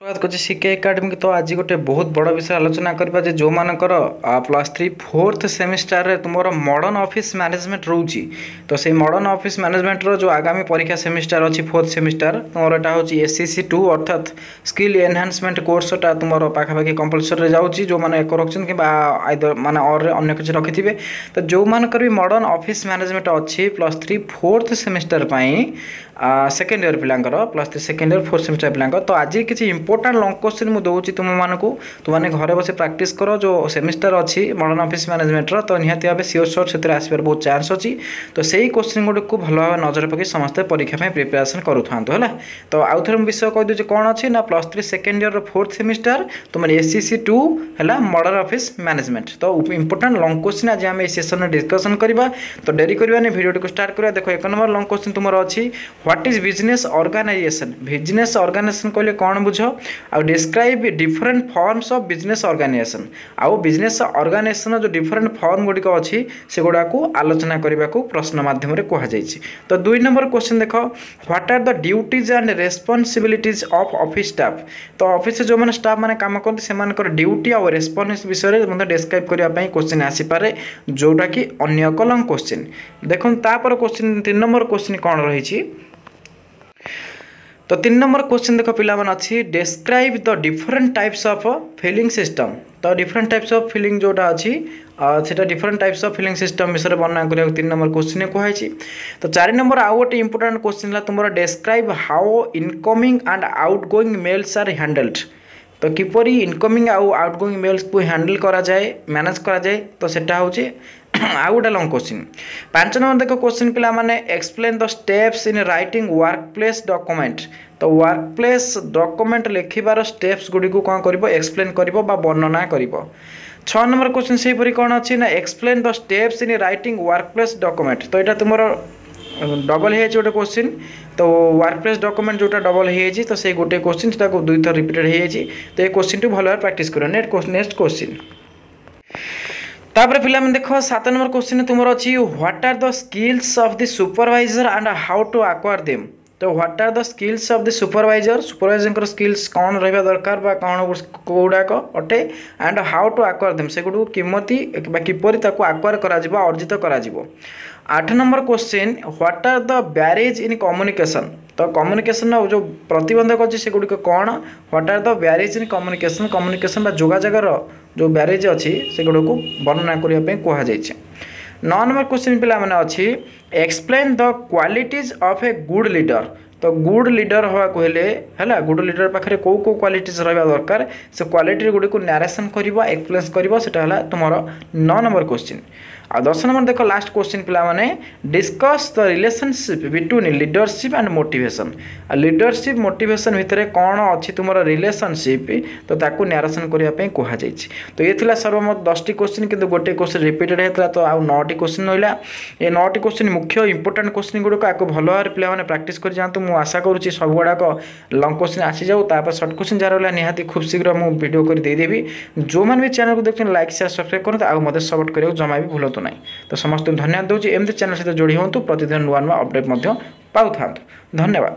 ସ୍ୱାଗତ କରୁଛି ସିକେ ଏକାଡେମୀ। ତ ଆଜି ଗୋଟେ ବହୁତ ବଡ଼ ବିଷୟ ଆଲୋଚନା କରିବା ଯେ ଯେଉଁମାନଙ୍କର +3 ଫୋର୍ଥ ସେମିଷ୍ଟାରରେ ତୁମର ମଡ଼ର୍ଣ୍ଣ ଅଫିସ୍ ମ୍ୟାନେଜମେଣ୍ଟ ରହୁଛି, ତ ସେଇ ମଡ଼ର୍ଣ୍ଣ ଅଫିସ୍ ମ୍ୟାନେଜମେଣ୍ଟର ଯେଉଁ ଆଗାମୀ ପରୀକ୍ଷା ସେମିଷ୍ଟାର ଅଛି, ଫୋର୍ଥ ସେମିଷ୍ଟାର ତୁମର ଏଇଟା ହେଉଛି SEC 2, ଅର୍ଥାତ୍ ସ୍କିଲ୍ ଏନହାନ୍ସମେଣ୍ଟ କୋର୍ସଟା ତୁମର ପାଖାପାଖି କମ୍ପଲସରୀରେ ଯାଉଛି, ଯେଉଁମାନେ ଏକ ରଖିଛନ୍ତି କିମ୍ବା ଆଇଦର ମାନେ ଅର୍ରେ ଅନ୍ୟ କିଛି ରଖିଥିବେ। ତ ଯେଉଁମାନଙ୍କର ବି ମଡ଼ର୍ଣ୍ଣ ଅଫିସ୍ ମ୍ୟାନେଜମେଣ୍ଟ ଅଛି +3 ଫୋର୍ଥ ସେମିଷ୍ଟାର ପାଇଁ, ସେକେଣ୍ଡ ଇୟର ପିଲାଙ୍କର, +3 ସେକେଣ୍ଡ ଇୟର ଫୋର୍ଥ ସେମିଷ୍ଟାର ପିଲାଙ୍କର, ତ ଆଜି କିଛି ଇମ୍ପୋର୍ଟାଣ୍ଟ ଲଙ୍ଗ କୋଶ୍ଚିନ୍ ମୁଁ ଦେଉଛି ତୁମମାନଙ୍କୁ। ତୁମମାନେ ଘରେ ବସି ପ୍ରାକ୍ଟିସ୍ କର। ଯେଉଁ ସେମିଷ୍ଟାର ଅଛି ମଡ଼ର୍ଣ୍ଣ ଅଫିସ୍ ମ୍ୟାନେଜମେଣ୍ଟର, ତ ନିହାତି ଭାବେ ସିଓର ସର୍ଟ ସେଥିରେ ଆସିବାର ବହୁତ ଚାନ୍ସ ଅଛି। ତ ସେଇ କୋଶ୍ଚିନ୍ ଗୁଡ଼ିକୁ ଭଲ ଭାବେ ନଜର ପକାଇ ସମସ୍ତେ ପରୀକ୍ଷା ପାଇଁ ପ୍ରିପାରେସନ୍ କରୁଥାନ୍ତୁ, ହେଲା। ତ ଆଉ ଥରେ ମୁଁ ବିଷୟ କହିଦେଉଛି କ'ଣ ଅଛି ନା, +3 ସେକେଣ୍ଡ ଇୟରର ଫୋର୍ଥ ସେମିଷ୍ଟାର ତୁମର SEC 2 ହେଲା ମଡ଼ର୍ଣ୍ଣ ଅଫିସ୍ ମ୍ୟାନେଜମେଣ୍ଟ। ତ ଇମ୍ପୋର୍ଟାଣ୍ଟ ଲଙ୍ଗ କୋଶ୍ଚିନ୍ ଆଜି ଆମେ ଏଇ ସେସନରେ ଡିସ୍କସନ୍ କରିବା। ତ ଡେରି କରିବାନି, ଭିଡ଼ିଓଟିକୁ ଷ୍ଟାର୍ଟ କରିବା। ଦେଖ, ଏକ ନମ୍ବର ଲଙ୍ଗ କୋଶ୍ଚିନ୍ ତୁମର ଅଛି, "What is business organization?" Business organisation କହିଲେ କ'ଣ ବୁଝ? ଆଉ "Describe different forms of business organization." ଆଉ ବିଜନେସ୍ ଅର୍ଗାନାଇଜେସନ୍ ଯେଉଁ ଡିଫରେଣ୍ଟ ଫର୍ମ ଗୁଡ଼ିକ ଅଛି, ସେଗୁଡ଼ାକୁ ଆଲୋଚନା କରିବାକୁ ପ୍ରଶ୍ନ ମାଧ୍ୟମରେ କୁହାଯାଇଛି। ତ ଦୁଇ ନମ୍ବର କୋଶ୍ଚିନ୍ ଦେଖ, "What are the duties and responsibilities of office staff?" ତ ଅଫିସରେ ଯେଉଁମାନେ ଷ୍ଟାଫ୍ ମାନେ କାମ କରନ୍ତି, ସେମାନଙ୍କର ଡ୍ୟୁଟି ଆଉ ରେସ୍ପନ୍ସ ବିଷୟରେ ମଧ୍ୟ ଡେସ୍କ୍ରାଇବ୍ କରିବା ପାଇଁ କୋଶ୍ଚିନ୍ ଆସିପାରେ, ଯେଉଁଟାକି ଅନ୍ୟ ଏକ ଲଙ୍ଗ କୋଶ୍ଚିନ୍। ଦେଖନ୍ତୁ, ତାପରେ କୋଶ୍ଚିନ୍ ତିନି ନମ୍ବର କୋଶ୍ଚିନ୍ କ'ଣ ରହିଛି। ତ ତିନି ନମ୍ବର କୋଶ୍ଚିନ୍ ଦେଖ ପିଲାମାନେ ଅଛି, "Describe the different types of filing system." ତ ଡିଫରେଣ୍ଟ ଟାଇପ୍ସ ଅଫ୍ ଫାଇଲିଂ ଯେଉଁଟା ଅଛି, ସେଟା different types of filing system ବିଷୟରେ ବର୍ଣ୍ଣନା କରିବାକୁ ତିନି ନମ୍ବର କୋଶ୍ଚିନ୍ କୁହାଯାଇଛି। ତ ଚାରି ନମ୍ବର ଆଉ ଗୋଟେ ଇମ୍ପୋର୍ଟାଣ୍ଟ କୋଶ୍ଚିନ୍ ହେଲା ତୁମର, "Describe how incoming and outgoing mails are handled." ତ କିପରି ଇନକମିଂ ଆଉ ଆଉଟ୍ ଗୋଇଂ ମେଲ୍ସକୁ ହ୍ୟାଣ୍ଡେଲ୍ କରାଯାଏ, ମ୍ୟାନେଜ୍ କରାଯାଏ, ତ ସେଟା ହେଉଛି ଆଉ ଗୋଟେ ଲଙ୍ଗ କୋଶ୍ଚିନ୍। ପାଞ୍ଚ ନମ୍ବର ଦେଖ କୋଶ୍ଚିନ୍ ପିଲାମାନେ, "Explain the steps in writing work place document." ତ ୱାର୍କ ପ୍ଲେସ୍ ଡକୁମେଣ୍ଟ ଲେଖିବାର ଷ୍ଟେପ୍ସ ଗୁଡ଼ିକୁ କ'ଣ କରିବ? ଏକ୍ସପ୍ଲେନ୍ କରିବ ବା ବର୍ଣ୍ଣନା କରିବ। ଛଅ ନମ୍ବର କୋଶ୍ଚିନ୍ ସେହିପରି କ'ଣ ଅଛି ନା, "Explain the steps in writing work place document." ତ ଏଇଟା ତୁମର ଡବଲ୍ ହେଇଯାଇଛି ଗୋଟେ କୋଶ୍ଚିନ୍। ତ ୱାର୍କ ପ୍ଲେସ୍ ଡକୁମେଣ୍ଟ ଯେଉଁଟା ଡବଲ୍ ହେଇଯାଇଛି, ତ ସେଇ ଗୋଟେ କୋଶ୍ଚିନ୍ ସେଟାକୁ ଦୁଇଥର ରିପିଟେଡ଼ ହେଇଯାଇଛି। ତ ଏ କୋଶ୍ଚିନ୍ଟି ଭଲ ଭାବେ ପ୍ରାକ୍ଟିସ୍ କରିବ। ନେକ୍ସଟ କୋଶ୍ଚିନ୍ ତାପରେ ପିଲାମାନେ ଦେଖ, ସାତ ନମ୍ବର କୋଶ୍ଚିନ୍ ତୁମର ଅଛି, "What are the skills of the supervisor and how to acquire them?" ତ what are the skills of the supervisor, ସୁପରଭାଇଜରଙ୍କର skills କ'ଣ ରହିବା ଦରକାର ବା କ'ଣ କେଉଁଗୁଡ଼ାକ ଅଟେ, and how to acquire them, ସେଗୁଡ଼ିକୁ କେମିତି ବା କିପରି ତାକୁ ଆକ୍ୱାର କରାଯିବ, ଅର୍ଜିତ କରାଯିବ। ଆଠ number question, "What are the barriers in communication?" ତ କମ୍ୟୁନିକେସନ୍ର ଯେଉଁ ପ୍ରତିବନ୍ଧକ ଅଛି, ସେଗୁଡ଼ିକ କ'ଣ? "What are the barriers in communication?" Communication ବା ଯୋଗାଯୋଗର ଯେଉଁ ବ୍ୟାରିୟର୍ସ ଅଛି, ସେଗୁଡ଼ିକୁ ବର୍ଣ୍ଣନା କରିବା ପାଇଁ କୁହାଯାଇଛି। ନଅ ନମ୍ବର କୋଶ୍ଚିନ୍ ପିଲାମାନେ ଅଛି, "Explain the qualities of a good leader." ତ ଗୁଡ୍ ଲିଡର ହେବାକୁ ହେଲେ, ହେଲା, ଗୁଡ୍ ଲିଡର ପାଖରେ କେଉଁ କେଉଁ କ୍ୱାଲିଟିଜ୍ ରହିବା ଦରକାର, ସେ କ୍ୱାଲିଟି ଗୁଡ଼ିକୁ ନାରେସନ୍ କରିବ, ଏକ୍ସପ୍ଲେନ୍ କରିବ। ସେଟା ହେଲା ତୁମର ନଅ ନମ୍ବର କୋଶ୍ଚିନ୍। ଆଉ 10 ନମ୍ବର ଦେଖ, ଲାଷ୍ଟ କୋଶ୍ଚିନ୍ ପିଲାମାନେ, "Discuss the relationship between leadership and motivation." ଆଉ ଲିଡରସିପ୍ ମୋଟିଭେସନ୍ ଭିତରେ କ'ଣ ଅଛି ତୁମର ରିଲେସନସିପ୍, ତ ତାକୁ ନାରେସନ୍ କରିବା ପାଇଁ କୁହାଯାଇଛି। ତ ଇଏ ଥିଲା ସର୍ବମୋଟ 10ଟି କୋଶ୍ଚିନ୍। କିନ୍ତୁ ଗୋଟେ କୋଶ୍ଚିନ୍ ରିପିଟେଡ଼ ହେଇଥିଲା, ତ ଆଉ ନଅଟି କୋଶ୍ଚିନ୍ ରହିଲା। ଏ ନଅଟି କୋଶ୍ଚିନ୍ ମୁଖ୍ୟ ଇମ୍ପୋର୍ଟାଣ୍ଟ କୋଶ୍ଚିନ୍ ଗୁଡ଼ିକ। ଆକୁ ଭଲ ଭାବରେ ପିଲାମାନେ ପ୍ରାକ୍ଟିସ୍ କରି ଯାଆନ୍ତୁ। ମୁଁ ଆଶା କରୁଛି ସବୁଗୁଡ଼ାକ ଲଙ୍ଗ କୋଶ୍ଚିନ୍ ଆସିଯାଉ। ତାପରେ ସର୍ଟ କୋଶ୍ଚିନ୍ ଯାହା ରହିଲା, ନିହାତି ଖୁବ୍ ଶୀଘ୍ର ମୁଁ ଭିଡ଼ିଓ କରି ଦେଇଦେବି। ଯେଉଁମାନେ ବି ଚ୍ୟାନେଲକୁ ଦେଖୁଛନ୍ତି, ଲାଇକ୍, ସେୟାର, ସବସ୍କ୍ରାଇବ୍ କରନ୍ତୁ ଆଉ ମୋତେ ସପୋର୍ଟ କରିବାକୁ ଜମା ବି ଭୁଲନ୍ତୁ ନାହିଁ। ତ ସମସ୍ତଙ୍କୁ ଧନ୍ୟବାଦ ଦେଉଛି। ଏମିତି ଚ୍ୟାନେଲ୍ ସହିତ ଯୋଡ଼ି ହୁଅନ୍ତୁ, ପ୍ରତିଦିନ ନୂଆ ନୂଆ ଅପଡ଼େଟ୍ ମଧ୍ୟ ପାଉଥାନ୍ତୁ। ଧନ୍ୟବାଦ।